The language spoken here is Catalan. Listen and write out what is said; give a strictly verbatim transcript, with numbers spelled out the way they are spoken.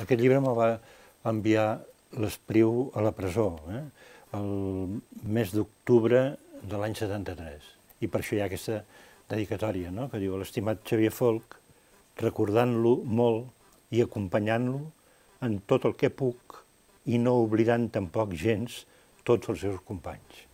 aquest llibre me'l va enviar l'Espriu a la presó, eh? el mes d'octubre de l'any setanta-tres. I per això hi ha aquesta dedicatòria, no? Que diu: a l'estimat Xavier Folch, recordant-lo molt i acompanyant-lo en tot el que puc i no oblidant tampoc gens tots els seus companys.